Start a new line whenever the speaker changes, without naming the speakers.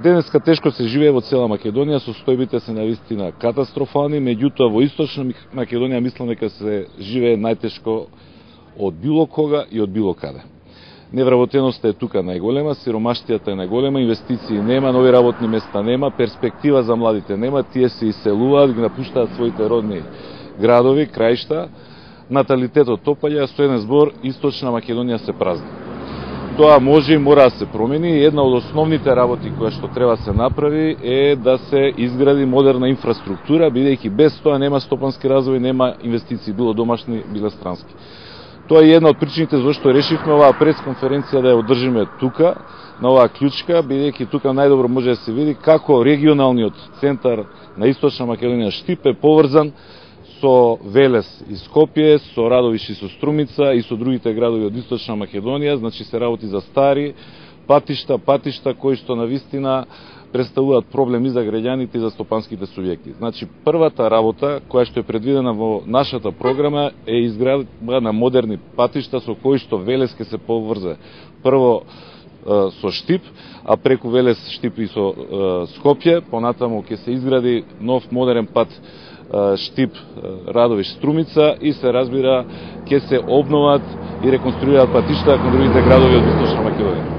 Денеска тешко се живее во цела Македонија, состојбите се навистина катастрофални, меѓутоа во Источна Македонија мислам дека се живее најтешко од било кога и од било каде. Невработеноста е тука најголема, сиромаштијата е најголема, инвестиции нема, нови работни места нема, перспектива за младите нема, тие се иселуваат, ги напуштаат своите родни градови, краишта, наталитетот опаѓа, со еден збор Источна Македонија се празни. Тоа може и мора да се промени и една од основните работи која што треба да се направи е да се изгради модерна инфраструктура, бидејќи без тоа нема стопански развој, нема инвестиции, било домашни, било странски. Тоа е една од причините зашто решивме оваа пресконференција да ја одржиме тука, на оваа клучка, бидејќи тука најдобро може да се види како регионалниот центар на Источна Македонија Штип е поврзан со Велес и Скопје, со Радовиш и со Струмица и со другите градови од Источна Македонија, значи се работи за стари патишта кои што навистина представуваат проблеми за граѓаните и за стопанските субјекти. Значи првата работа која што е предвидена во нашата програма е изградба на модерни патишта со кои што Велес ќе се поврзе прво со Штип, а преку Велес, Штип и со Скопје, понатаму ќе се изгради нов модерен пат Штип, Радовиш, Струмица и се разбира ќе се обноват и реконструираат патишта кон другите градови од Источна Македонија.